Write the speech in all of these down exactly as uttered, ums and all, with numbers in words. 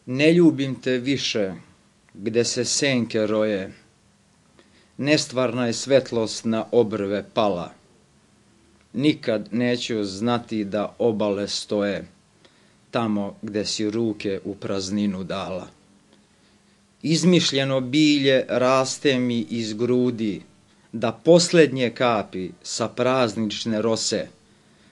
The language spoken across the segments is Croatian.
Ne ljubim te više, gde se senke roje, nestvarna je svetlost na obrve pala. Nikad neću znati da obale stoje, tamo gde si ruke u prazninu dala. Izmišljeno bilje raste mi iz grudi, da poslednje kapi sa praznične rose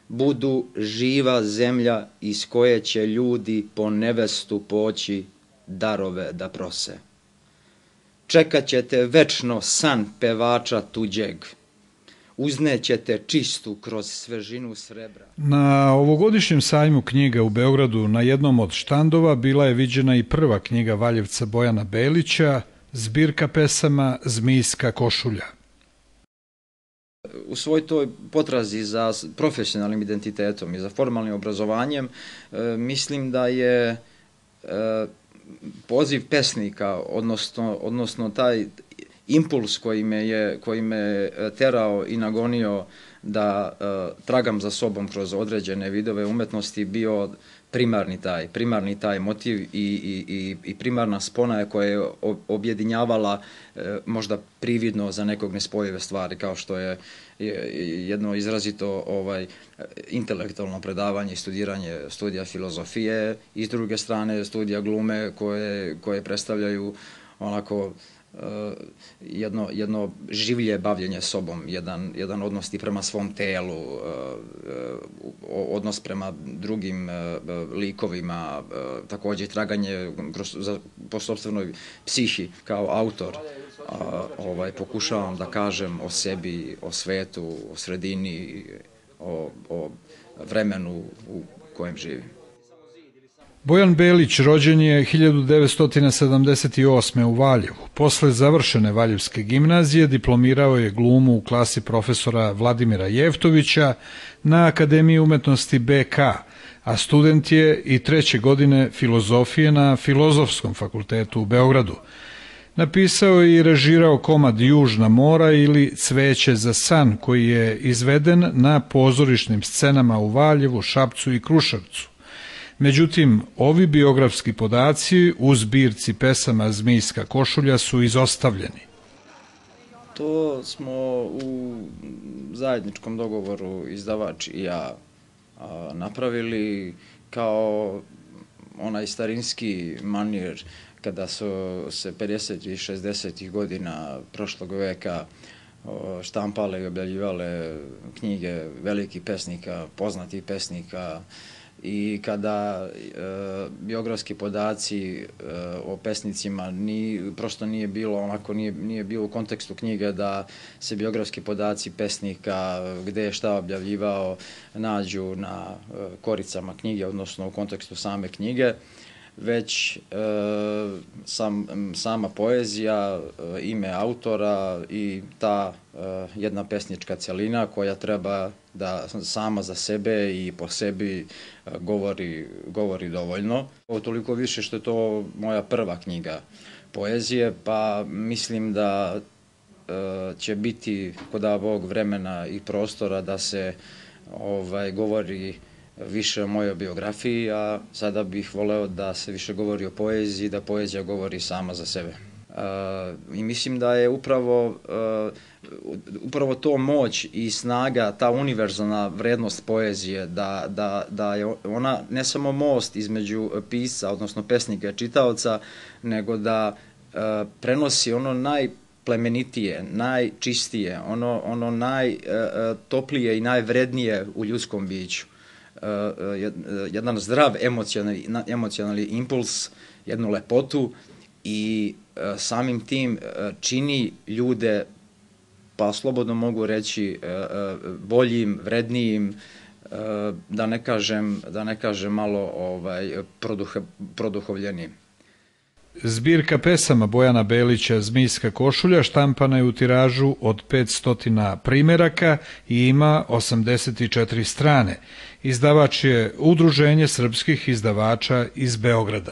budu živa zemlja iz koje će ljudi po nevestu poći darove da prose. Čekat ćete večno san pevača tuđeg, uznećete čistu kroz svežinu srebra. Na ovogodišnjem sajmu knjiga u Beogradu na jednom od štandova bila je viđena i prva knjiga Valjevca Bojana Belića, zbirka pesama Zmijska košulja. U svoj toj potrazi za profesionalnim identitetom i za formalnim obrazovanjem mislim da je poziv pesnika, odnosno, odnosno taj impuls koji me je, koji me terao i nagonio da uh, tragam za sobom kroz određene vidove umetnosti bio primarni taj, primarni taj motiv i, i, i primarna spona koja je objedinjavala uh, možda prividno za nekog nespojive stvari, kao što je jedno izrazito ovaj, intelektualno predavanje i studiranje studija filozofije i s druge strane studija glume koje, koje predstavljaju onako jedno, jedno življe bavljenje sobom, jedan, jedan odnos i prema svom telu, odnos prema drugim likovima, također traganje za, po sopstvenoj psihi kao autor. Ovaj, pokušavam da kažem o sebi, o svetu, o sredini, o, o vremenu u kojem živim. Bojan Belić rođen je hiljadu devetsto sedamdeset osme. u Valjevu. Posle završene Valjevske gimnazije diplomirao je glumu u klasi profesora Vladimira Jevtovića na Akademiji umetnosti B K, a student je i treće godine filozofije na Filozofskom fakultetu u Beogradu. Napisao je i režirao komad Južna mora ili Cveće za san, koji je izveden na pozorišnim scenama u Valjevu, Šapcu i Kruševcu. Međutim, ovi biografski podaci u zbirci pesama Zmijska košulja su izostavljeni. To smo u zajedničkom dogovoru izdavač i ja napravili kao onaj starinski manir kada su se pedesetih i šezdesetih godina prošlog veka štampale i objavljivale knjige velikih pesnika, poznatih pesnika, i kada e, biografski podaci e, o pesnicima ni, prosto nije bilo onako, nije, nije bilo u kontekstu knjige da se biografski podaci pesnika, gde je šta objavljivao, nađu na e, koricama knjige, odnosno u kontekstu same knjige, već e, sam, sama poezija, e, ime autora i ta e, jedna pesnička celina koja treba da sama za sebe i po sebi govori, govori dovoljno. Toliko više što je to moja prva knjiga poezije, pa mislim da e, će biti kod Bog vremena i prostora da se ovaj, govori više o mojoj biografiji, a sada bih voleo da se više govori o poeziji, da poezija govori sama za sebe. Uh, I mislim da je upravo, uh, upravo to moć i snaga, ta univerzalna vrednost poezije, da, da, da je ona ne samo most između pisca, odnosno pesnika i čitaoca, nego da uh, prenosi ono najplemenitije, najčistije, ono, ono najtoplije i najvrednije u ljudskom biću. Jedan zdrav emocionalni, emocionalni impuls, jednu lepotu i samim tim čini ljude, pa slobodno mogu reći, boljim, vrednijim, da ne kažem, da ne kažem malo ovaj, produh, produhovljenijim. Zbirka pesama Bojana Belića Zmijska košulja štampana je u tiražu od petsto primeraka i ima osamdeset četiri strane. Izdavač je Udruženje srpskih izdavača iz Beograda.